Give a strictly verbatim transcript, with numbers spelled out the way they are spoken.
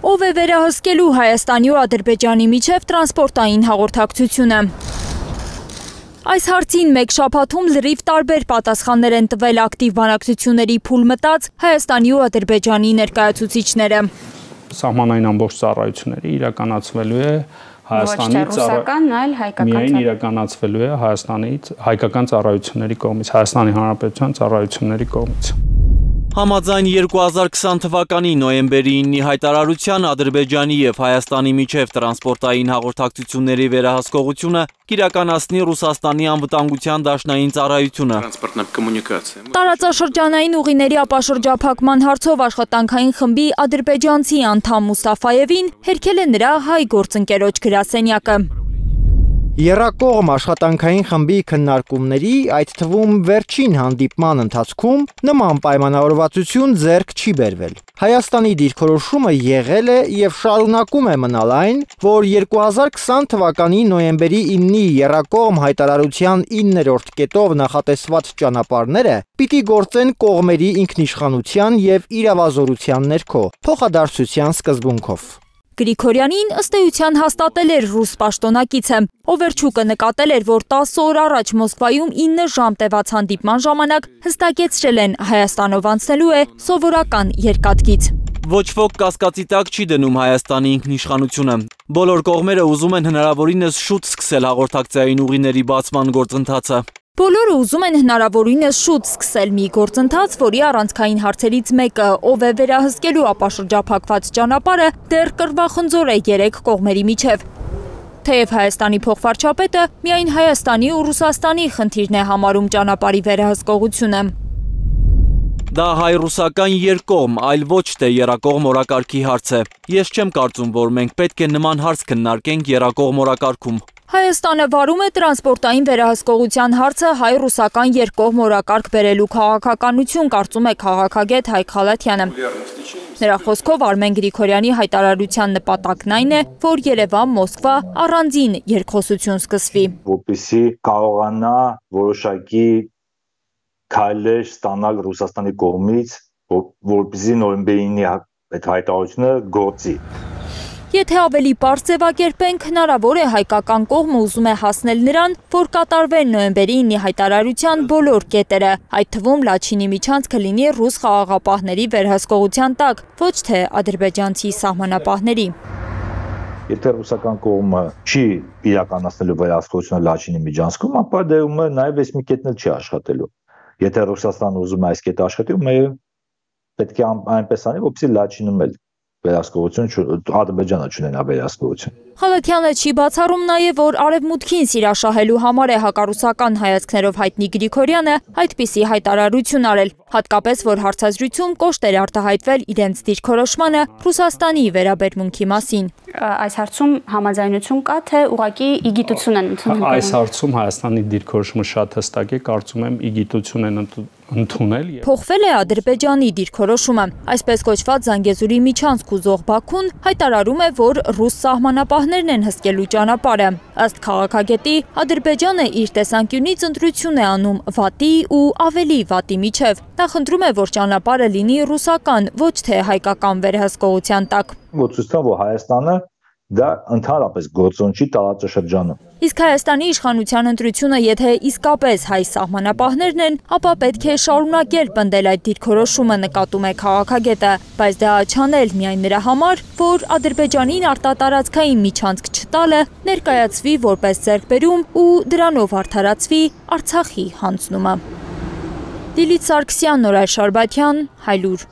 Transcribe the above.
Ով է վերահսկելու Հայաստանի ու Ադրբեջանի միջև տրանսպորտային հաղորդակցությունը։ Այս հարցին մեկ շաբաթում լրիվ տարբեր պատասխաններ են տվել ակտիվ բանակցությունների փուլ մտած Հայաստանի ու Ադրբեջանի ներկայացուցիչները։ Սահմանային ամբողջ ծառայությունները իրականացվելու է Հայաստանից միայն իրականացվելու է Հայաստանից հայկական ծառայությունների կողմից, Հայաստանի Հանրապետության ծառայությունների կողմից։ Համաձայն երկու հազար քսան թվականի նոյեմբերի իննի հայտարարության Ադրբեջանի եւ Հայաստանի միջև տրանսպորտային հաղորդակցությունների վերահսկողությունը կիրականացնի Ռուսաստանի անվտանգության դաշնային ծառայությունը։ Տարածաշրջանային ուղիների ապաշրջափակման հարցով աշխատանքային խմբի ադրբեջանցի անդամ Մուստաֆայևին հերքել է նրա հայ գործընկերոջ գրասենյակը։ Եռակողմ աշխատանքային խմբի քննարկումների, այդ թվում վերջին հանդիպման ընթացքում նման պայմանավորվածություն ձեռք չի բերվել։ Հայաստանի դիրքորոշումը եղել է եւ շարունակում է մնալ այն, որ երկու հազար քսան թվականի նոյեմբերի իննի եռակողմ հայտարարության իններորդ կետով նախատեսված ճանապարհները պիտի գործեն կողմերի ինքնիշխանության եւ իրավազորության ներքո, փոխադարձության սկզբունքով։ Գրիգորյանին ըստ էության հաստատել էր ռուս պաշտոնակիցը, Օվերչուկը նկատել էր, որ տասը օր առաջ Մոսկվայում ինը ժամ տևած հանդիպման ժամանակ հստակեցրել են Հայաստանով անցնելու է սովորական երկաթգիծ։ Ոչ ոք կասկածի տակ չի դնում Հայաստանի ինքնիշխանությունը։ Բոլոր կողմերը ուզում են հնարավորինս շուտ սկսել հաղորդակցային ուղիների բացման գործընթացը։ Բոլորը ուզում են հնարավորինս շուտ սկսել մի գործընթաց, որի առանցքային հարցերից մեկը, ով է վերահսկելու ապաշրջափակված ճանապարհը, դեռ կռվախնձոր է երեք կողմերի միջև։ Թեև Հայաստանի փոխվարչապետը միայն Հայաստանի ու Ռուսաստանի խնդիրն է համարում ճանապարհի վերահսկողությունը։ Դա հայ-ռուսական երկկողմ, այլ ոչ թե եռակողմ օրակարգի հարց է։ Ես չեմ կարծում, որ մենք պետք է նման հարց քննարկենք եռակողմ օրակարգում։ Հայաստանը վարում է տրանսպորտային վերահսկողության հարցը հայ-ռուսական երկկողմ օրակարգ բերելու քաղաքականություն, կարծում է քաղաքագետ Հայկ Խալաթյանը։ Նրա խոսքով Արմեն Գրիգորյանի հայտարարության նպատակն այն է, որ Երևան-Մոսկվա առանձին երկխոսություն սկսվի։ Որպեսզի կարողանա որոշակի քայլեր ստանալ Ռուսաստանի կողմից, որպեսզի նոյեմբերի ինի այդ հայտարարությունը գործի։ Եթե ավելի պարզ ձևակերպենք, հնարավոր է հայկական կողմը ուզում է հասնել նրան, որ կատարվեն նոյեմբերի ինի հայտարարության բոլոր կետերը, այդ թվում Լաչինի միջանցքը լինի ռուս խաղաղապահների վերահսկողության տակ, ոչ թե ադրբեջանցի սահմանապահների։ Եթե ռուսական կողմը չի իրականացնելու վերահսկողությունը Լաչինի միջանցքում, ապա դերում է նաև այս մի կետն էլ չի աշխատելու։ Եթե Ռուսաստանը ուզում է այս կետը աշխատի, մեր պետք է այնպես անի, որպեսզի Լաչինում էլ վերահսկողություն, Ադրբեջանը չունենա վերահսկողություն։ Խալաթյանը չի բացառում նաև, որ արևմուտքին սիրաշահելու համար է հակառուսական հայացքներով հայտնի Գրիգորյանը այդպիսի հայտարարություն արել, հատկապես որ հարցազրույցում կոշտ էր արտահայտվել իրենց դիրքորոշմանը Ռուսաստանի վերաբերմունքի մասին։ Այս հարցում համաձայնություն կա, թե ուղղակի իգիտություն են ընդունել։ Այս հարցում Հայաստանի դիրքորոշումը շատ հստակ է, կարծում եմ իգիտություն են ընդունել։ Փոխվել է Ադրբեջանի դիրքորոշումը։ Այսպես կոչված Զանգեզուրի միջանցք ուզող Բաքուն հայտարարում է, որ ռուս սահմանապահներն են հսկելու ճանապարհը։ Ըստ քաղաքագետի, Ադրբեջանը իր տեսանկյունից ընտրություն է անում վատի ու ավելի վատի միջև։ Նա խնդրում է, որ ճանապարհը լինի ռուսական, ոչ թե հայկական վերահսկողության տակ։ Ցույց տա, որ Հայաստանը դա ընդհանրապես գործոն չի տարածաշրջանում։ Իսկ Հայաստանի իշխանության ընտրությունը, եթե իսկապես հայ սահմանապահներն են, ապա պետք է շարունակել պնդել այդ դիրքորոշումը, նկատում է քաղաքագետը, բայց դա չանել միայն նրա համար, որ Ադրբեջանին արտատարածքային միջանցք չտալը ներկայացվի որպես ձեռքբերում ու դրանով արդարացվի Արցախի հանձնումը։ Դիլիթ Սարգսյան, Նորայր Շարբաթյան, Հայլուր։